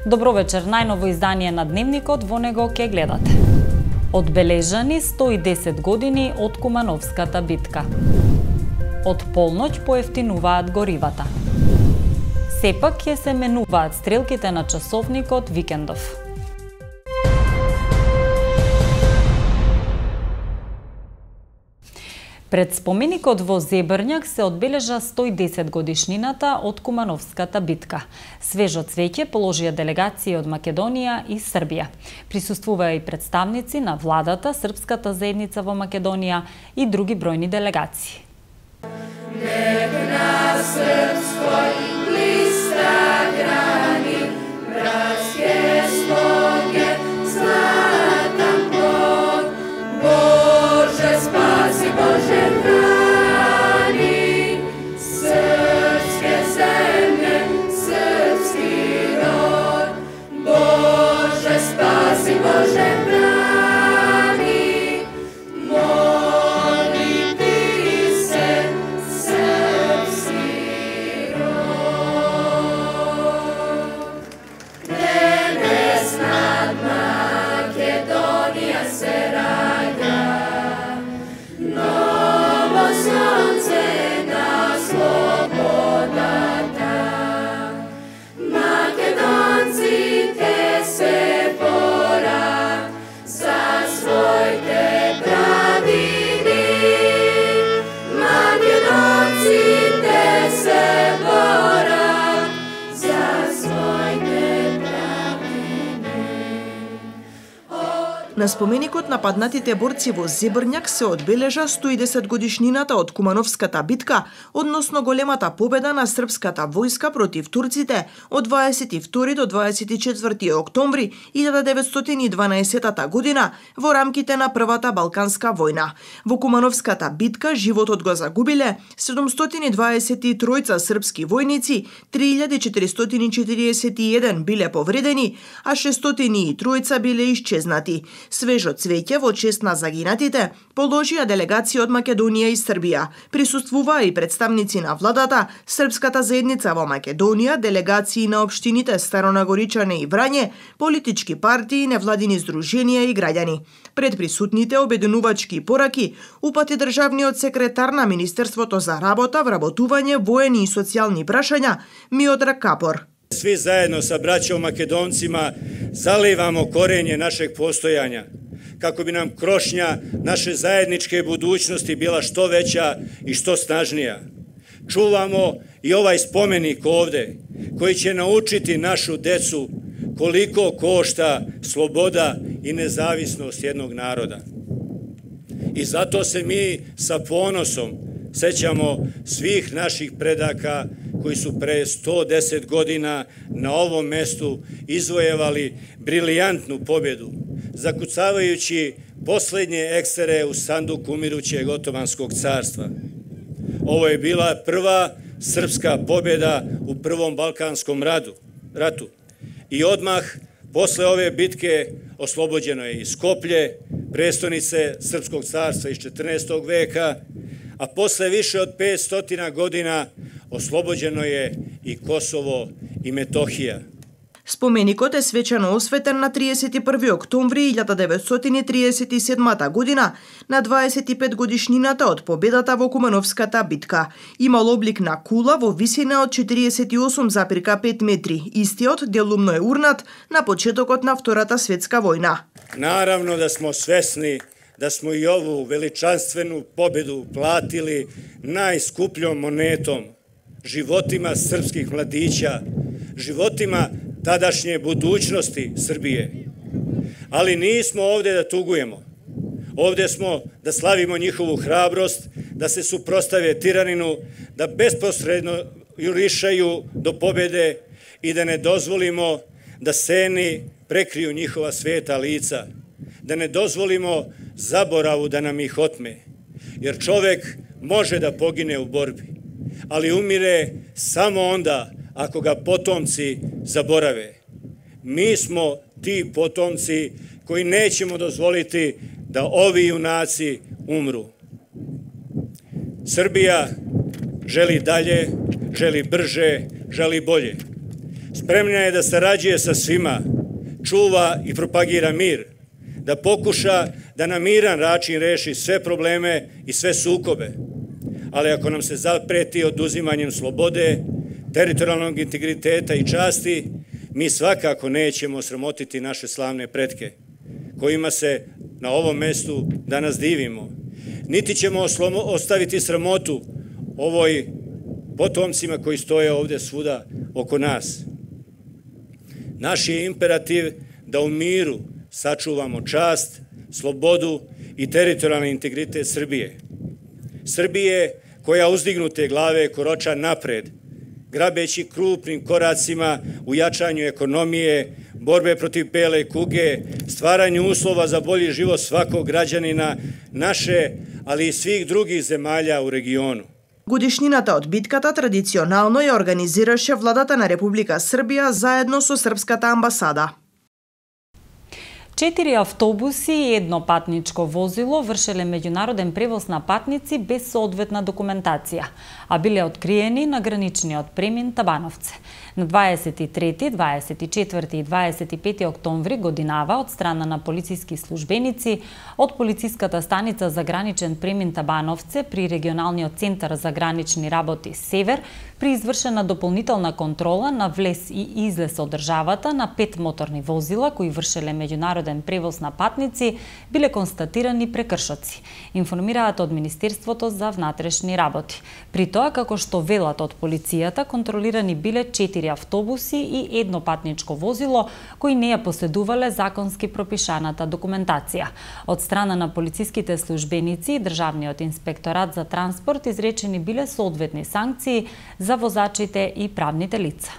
Добро вечер, најново издание на Дневникот, во него ќе гледате. Одбележани 110 години од Кумановската битка. Од полноќ поевтинуваат горивата. Сепак ќе се менуваат стрелките на часовникот викендов. Пред споменикот во Зебрњак се одбележа 110 годишнината од Кумановската битка. Свежо цвеќе положија делегации од Македонија и Србија. Присуствуваа и представници на владата, српската заедница во Македонија и други бројни делегации. На споменикот на паднатите борци во Зебрњак се одбележа 110 годишнината од Кумановската битка, односно големата победа на српската војска против турците од 22 до 24 октомври 1912 година во рамките на Првата Балканска војна. Во Кумановската битка животот го загубиле 723 српски војници, 3441 биле повредени, а 603 биле исчезнати. Свежо цвеќе во чест на загинатите положија делегации од Македонија и Србија. Присуствуваа и представници на владата, српската заедница во Македонија, делегации на општините Старонагоричане и Врање, политички партии, невладини здруженија и граѓани. Пред присутните обединувачки пораки упати државниот секретар на Министерството за работа, вработување, воени и социјални прашања Миодраг Капор. Svi zajedno sa braćom Makedoncima zalivamo korenje našeg postojanja, kako bi nam krošnja naše zajedničke budućnosti bila što veća i što snažnija. Čuvamo i ovaj spomenik ovde, koji će naučiti našu decu koliko košta sloboda i nezavisnost jednog naroda. I zato se mi sa ponosom sećamo svih naših predaka koji su pre 110 godina na ovom mestu izvojevali briljantnu pobjedu, zakucavajući poslednje eksere u sanduku umirućeg Otomanskog carstva. Ovo je bila prva srpska pobjeda u Prvom Balkanskom ratu. I odmah posle ove bitke oslobođeno je i Skoplje, prestonice Srpskog carstva iz 14. veka, a posle više od 500 godina oslobođeno je i Kosovo i Metohija. Споменикот е свечано осветен на 31 октомври 1937 година, на 25 годишнината од победата во Кумановската битка. Имал облик на кула во висина од 48,5 метри. Истиот делумно е урнат на почетокот на Втората светска војна. Наравно да смо свесни da smo i ovu veličanstvenu pobedu platili najskupljom monetom, životima srpskih mladića, životima tadašnje budućnosti Srbije. Ali nismo ovde da tugujemo. Ovde smo da slavimo njihovu hrabrost, da se suprostave tiraninu, da besposredno jurišaju do pobede i da ne dozvolimo da seni prekriju njihova sveta lica, da ne dozvolimo zaboravu da nam ih otme, jer čovek može da pogine u borbi, ali umire samo onda ako ga potomci zaborave. Mi smo ti potomci koji nećemo dozvoliti da ovi junaci umru. Srbija želi dalje, želi brže, želi bolje. Spremna je da sarađuje sa svima, čuva i propagira mir, da pokuša da na miran način reši sve probleme i sve sukobe. Ali ako nam se zapreti oduzimanjem slobode, teritorijalnog integriteta i časti, mi svakako nećemo sramotiti naše slavne pretke, kojima se na ovom mestu danas divimo. Niti ćemo ostaviti sramotu ovoj potomcima koji stoje ovdje svuda oko nas. Naš je imperativ da u miru sačuvamo čast, slobodu i teritorijalni integritet Srbije. Srbije koja uzdignute glave koroča napred, grabeći krupnim koracima u jačanju ekonomije, borbe protiv bele kuge, stvaranju uslova za bolji život svakog građanina naše, ali i svih drugih zemalja u regionu. Годишнината од битката традиционално ја организираше владата на Република Србија заедно со Српската амбасада. 4 автобуси и едно патничко возило вршеле меѓународен превоз на патници без соодветна документација, а биле откриени на граничниот премин Табановце. На 23, 24 и 25 октомври годинава од страна на полициски службеници од полициската станица за граничен премин Табановце при регионалниот центар за гранични работи Север при извршена дополнителна контрола на влез и излез од државата на 5 моторни возила кои вршеле меѓународен превоз на патници биле констатирани прекршоци, информираат од Министерството за внатрешни работи. При тоа, како што велат од полицијата, контролирани биле 4 автобуси и едно патничко возило кои не ја поседувале законски пропишаната документација. Од страна на полициските службеници и Државниот инспекторат за транспорт изречени биле соодветни санкции за возачите и правните лица.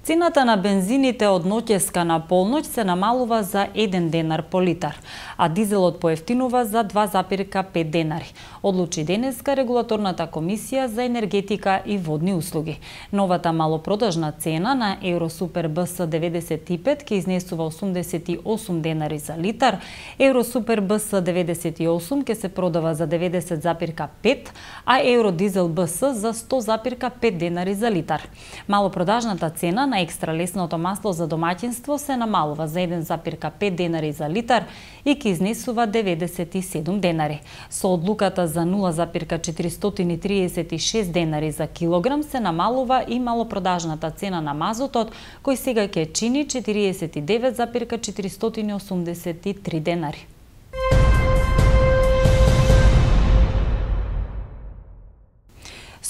Цената на бензините од ноќеска на полноќ се намалува за 1 денар по литар, а дизелот поевтинува за 2,5 денари. Одлучи денеска Регулаторната комисија за енергетика и водни услуги. Новата малопродажна цена на Евросупер БС 95 ќе изнесува 88 денари за литар, Евросупер БС 98 ќе се продава за 90,5, а Евродизел БС за 100,5 денари за литар. Малопродажната цена на екстра лесното масло за домаќинство се намалува за 1,5 денари за литар и ќе изнесува 97 денари. Со одлуката за 0,436 денари за килограм се намалува и малопродажната цена на мазотот, кој сега ќе чини 49,483 денари.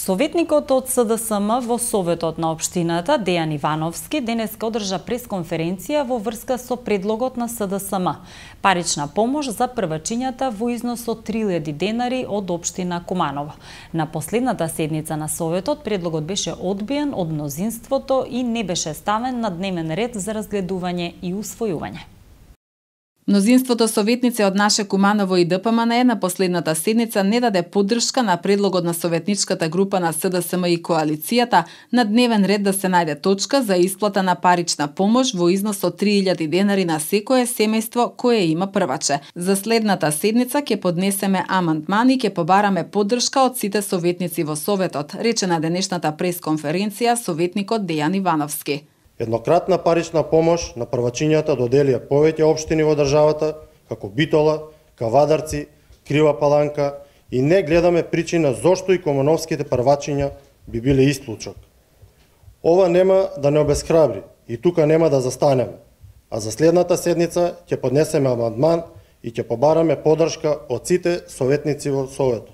Советникот од СДСМ во Советот на општината Дејан Ивановски денеска одржа пресконференција во врска со предлогот на СДСМ. Парична помош за првачињата во износ од 3000 денари од општина Куманово. На последната седница на Советот предлогот беше одбиен од мнозинството и не беше ставен на дневен ред за разгледување и усвојување. Мнозинството советници од Наше Куманово и ДПМН на последната седница не даде поддршка на предлогот на советничката група на СДСМ и коалицијата на дневен ред да се најде точка за исплата на парична помош во износ од 3000 денари на секое семејство кое има прваче. За следната седница ќе поднесеме амандман и ќе побараме поддршка од сите советници во Советот, рече на денешната пресконференција советникот Дејан Ивановски. Еднократна парична помош на првачињата доделија повеќе општини во државата, како Битола, Кавадарци, Крива Паланка, и не гледаме причина зошто и кумановските првачиња би биле исклучок. Ова нема да не обесхрабри и тука нема да застанеме, а за следната седница ќе поднесеме амандман и ќе побараме поддршка од сите советници во Советот.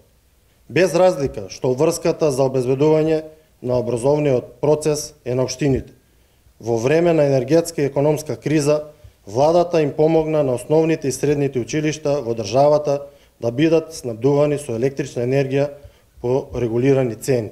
Без разлика што врската за обезбедување на образовниот процес е на општините. Во време на енергетска и економска криза, владата им помогна на основните и средните училишта во државата да бидат снабдувани со електрична енергија по регулирани цени.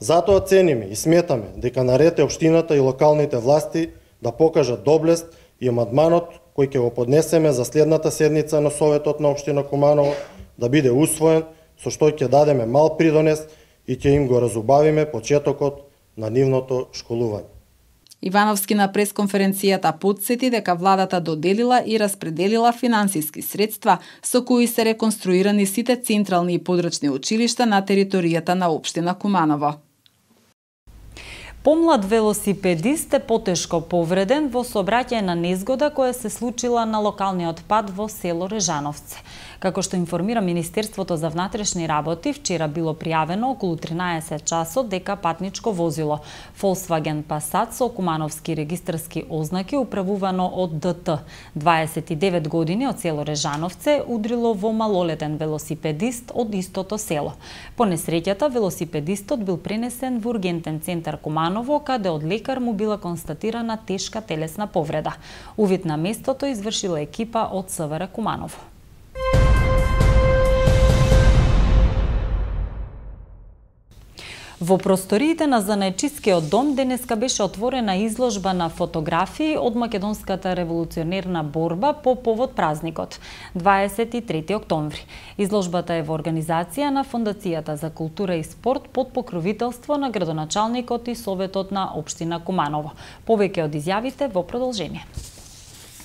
Затоа цениме и сметаме дека наред е општината и локалните власти да покажат доблест и амандманот кој ќе го поднесеме за следната седница на Советот на општина Куманово да биде усвоен, со што ќе дадеме мал придонес и ќе им го разубавиме почетокот на нивното школување. Ивановски на пресконференцијата потсети дека владата доделила и распределила финансиски средства со кои се реконструирани сите централни и подрачни училишта на територијата на општина Куманово. Помлад велосипедист е потешко повреден во сообраќајна незгода која се случила на локалниот пат во село Режановце. Како што информира Министерството за внатрешни работи, вчера било пријавено околу 13 часот дека патничко возило Volkswagen Passat со кумановски регистарски ознаки управувано од ДТ, 29 години од село Режановце, удрило во малолетен велосипедист од истото село. По несреќата, велосипедистот бил пренесен во ургентен центар Куманово, каде од лекар му била констатирана тешка телесна повреда. Увид на местото извршила екипа од СВР Куманово. Во просториите на Занајчискиот дом денеска беше отворена изложба на фотографии од македонската револуционерна борба по повод празникот 23 октомври. Изложбата е во организација на Фондацијата за култура и спорт под покровителство на градоначалникот и советот на општина Куманово. Повеќе од изјавите во продолжение.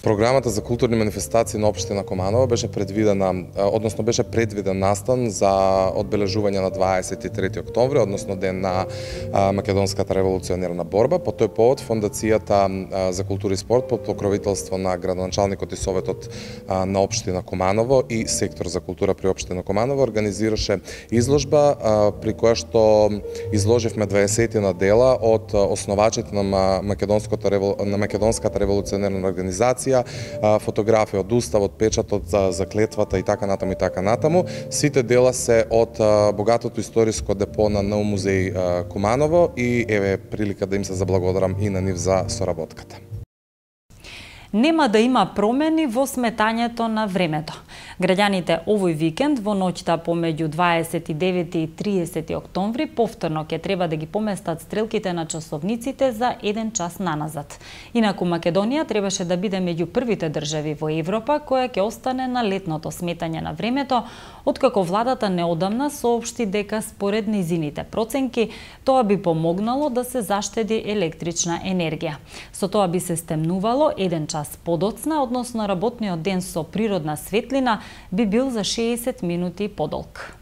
Програмата за културни манифестации на општина Куманово беше предвиден настан за одбележување на 23 октомври, односно ден на македонската револуционерна борба. По тој повод Фондацијата за култура и спорт под покровителство на градоначалникот и советот на општина Куманово и сектор за култура при општина Куманово организираше изложба при која што изложивме 20 дела од основачите на македонската револуционерна организација, фотографија од уставот, печатот за клетвата и така натаму. Сите дела се од богатото историско депо на НУ музеј Куманово и еве прилика да им се заблагодарам и на нив за соработката. Нема да има промени во сметањето на времето. Граѓаните овој викенд во ноќта помеѓу 29 и 30 октомври повторно ќе треба да ги поместат стрелките на часовниците за 1 час наназад. Инаку Македонија требаше да биде меѓу првите држави во Европа која ќе остане на летното сметање на времето, откако владата неодамна соопшти дека според низините проценки тоа би помогнало да се заштеди електрична енергија. Со тоа би се стемнувало 1 час подоцна, односно работниот ден со природна светлина би бил за 60 минути подолг.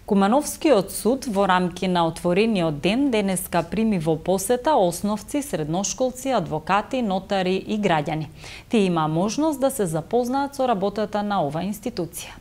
Кумановскиот суд во рамки на отворениот ден денеска прими во посета основци, средношколци, адвокати, нотари и граѓани. Тие има можност да се запознаат со работата на оваа институција.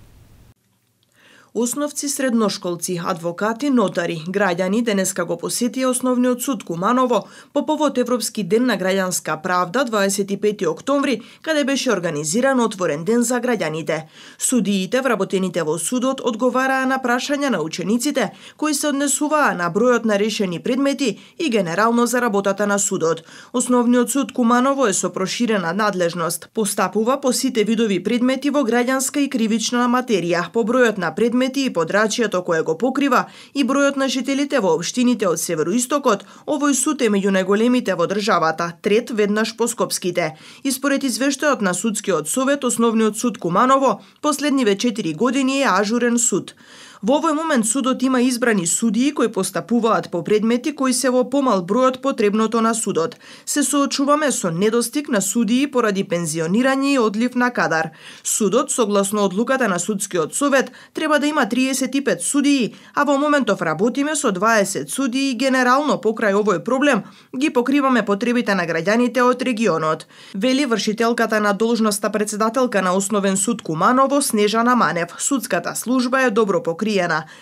Основци, средношколци, адвокати, нотари, граѓани денеска го посетија Основниот суд Куманово по повод Европски ден на граѓанска правда 25 октомври, каде беше организиран отворен ден за граѓаните. Судиите, вработените во судот, одговараа на прашања на учениците, кои се однесуваа на бројот на решени предмети и генерално за работата на судот. Основниот суд Куманово е со проширена надлежност. Постапува по сите видови предмети во граѓанска и кривична материја, по бројот на предмети и подрачјето кое го покрива и бројот на жителите во општините од североистокот, овој суд е меѓу најголемите во државата, трет веднаш по скопските. И според извештајот на судскиот совет, Основниот суд Куманово последниве 4 години е ажурен суд. Во овој момент судот има избрани судии кои постапуваат по предмети кои се во помал број од потребното на судот. Се соочуваме со недостиг на судии поради пензионирање и одлив на кадар. Судот, согласно одлуката на судскиот совет, треба да има 35 судии, а во моментов работиме со 20 судии и генерално покрај овој проблем ги покриваме потребите на граѓаните од регионот. Вели вршителката на должноста председателка на Основен суд Куманово Снежана Манев. Судската служба е добро покриена,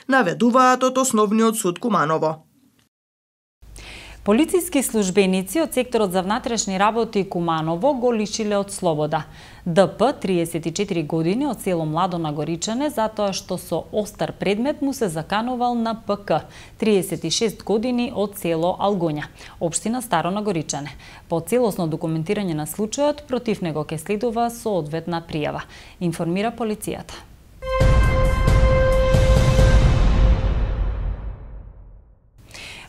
наведуваат од Основниот суд Куманово. Полициски службеници од секторот за внатрешни работи Куманово го лишиле од слобода. ДП, 34 години, од село Младо на Горичане, затоа што со остар предмет му се заканувал на ПК, 36 години, од село Алгоња, општина Старо на Горичане. По целосно документирање на случајот, против него ќе следува соодветна пријава, информира полицијата.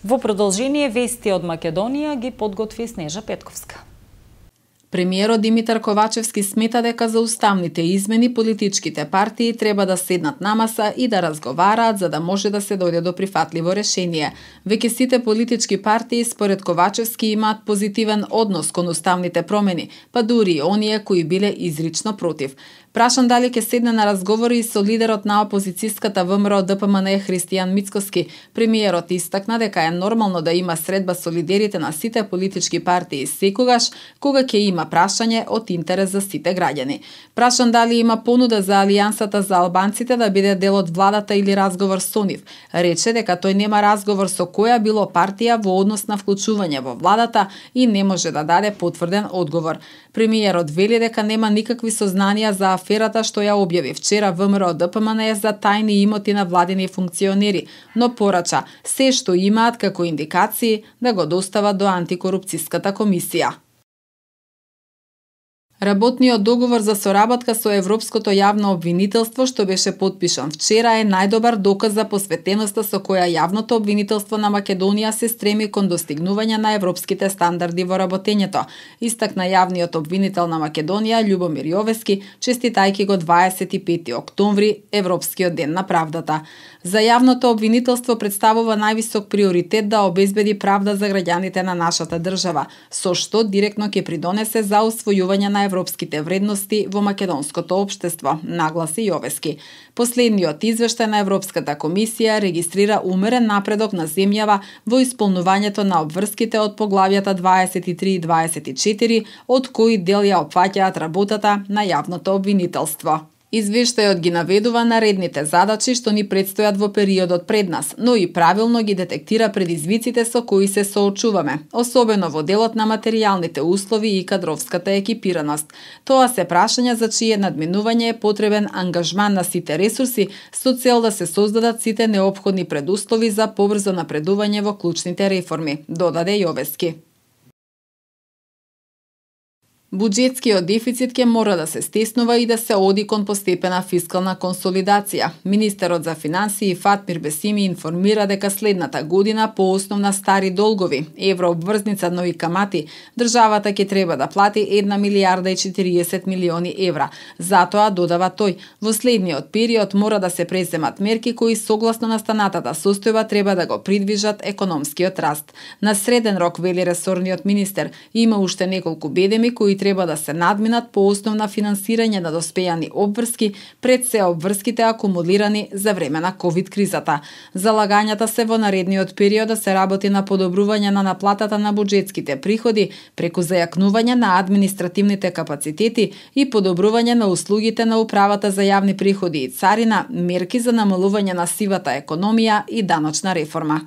Во продолжение вести од Македонија ги подготви Снежа Петковска. Премиерот Димитар Ковачевски смета дека за уставните измени политичките партии треба да седнат на маса и да разговараат за да може да се дојде до прифатливо решение. Веќе сите политички партии според Ковачевски имаат позитивен однос кон уставните промени, па дури и оние кои биле изрично против. Прашан дали ќе седне на разговори со лидерот на опозицијската ВМРО ДПМН Христијан Мицкоски, премиерот истакна дека е нормално да има средба со лидерите на сите политички партии секогаш кога ќе има прашање од интерес за сите граѓани. Прашан дали има понуда за Алијансата за албанците да биде дел од владата или разговор со нив, рече дека тој нема разговор со која било партија во однос на вклучување во владата и не може да даде потврден одговор. Премиерот вели дека нема никакви сознанија за аферата што ја објави вчера ВМРО ДПМН за тајни имоти на владини функционери, но порача се што имаат како индикации да го достават до антикорупцијската комисија. Работниот договор за соработка со Европското јавно обвинителство што беше потпишан вчера е најдобар доказ за посветеноста со која јавното обвинителство на Македонија се стреми кон достигнување на европските стандарди во работењето, истакна јавниот обвинител на Македонија Љубомир Јовески, честитајќи го 25 октомври, Европскиот ден на правдата. За јавното обвинителство представува највисок приоритет да обезбеди правда за граѓаните на нашата држава, со што директно ќе придонесе за усвојување на европските вредности во македонското општество, нагласи Јовески. Последниот извештај на Европската комисија регистрира умерен напредок на земјава во исполнувањето на обврските од поглавјата 23 и 24, од кои дел ја опфаќаат работата на јавното обвинителство. Извештајот ги наведува наредните задачи што ни предстојат во периодот пред нас, но и правилно ги детектира предизвиците со кои се соочуваме, особено во делот на материјалните услови и кадровската екипираност. Тоа се прашања за чие надминување е потребен ангажман на сите ресурси со цел да се создадат сите неопходни предуслови за побрзо напредување во клучните реформи, додаде Јовески. Буџетскиот дефицит ќе мора да се стеснува и да се оди кон постепена фискална консолидација. Министерот за финансии Фатмир Бесими информира дека следната година по основ на стари долгови, еврообврзница, но и камати, државата ќе треба да плати 1 милијарда и 40 милиони евра. Затоа, додава тој, во следниот период мора да се преземат мерки кои согласно настанатата состојба треба да го придвижат економскиот раст. На среден рок, вели ресорниот министер, има уште неколку бедеми кои треба да се надминат по основ на финансирање на доспејани обврски пред се обврските акумулирани за време на ковид кризата. Залагањата се во наредниот период да се работи на подобрување на наплатата на буџетските приходи преку зајакнување на административните капацитети и подобрување на услугите на управата за јавни приходи и царина, мерки за намалување на сивата економија и даночна реформа.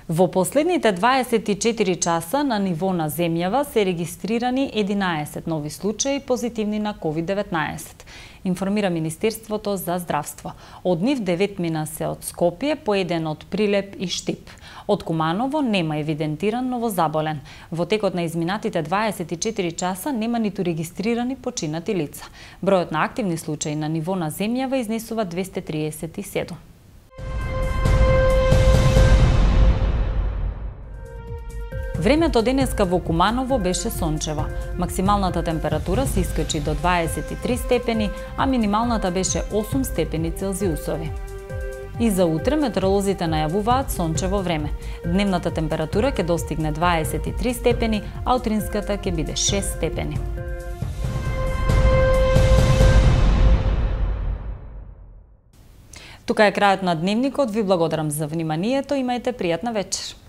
Во последните 24 часа на ниво на земјава се регистрирани 11 нови случаи позитивни на COVID-19, информира Министерството за здравство. Од нив 9 мина се од Скопје, по еден од Прилеп и Штип. Од Куманово нема евидентиран новозаболен. Во текот на изминатите 24 часа нема ниту регистрирани починати лица. Бројот на активни случаи на ниво на земјава изнесува 237. Времето денеска во Куманово беше сончево. Максималната температура се искочи до 23 степени, а минималната беше 8 степени Целзиусови. И за утре метеоролозите најавуваат сончево време. Дневната температура ќе достигне 23 степени, а утринската ќе биде 6 степени. Тука е крајот на дневникот. Ви благодарам за вниманието. Имајте пријатна вечер.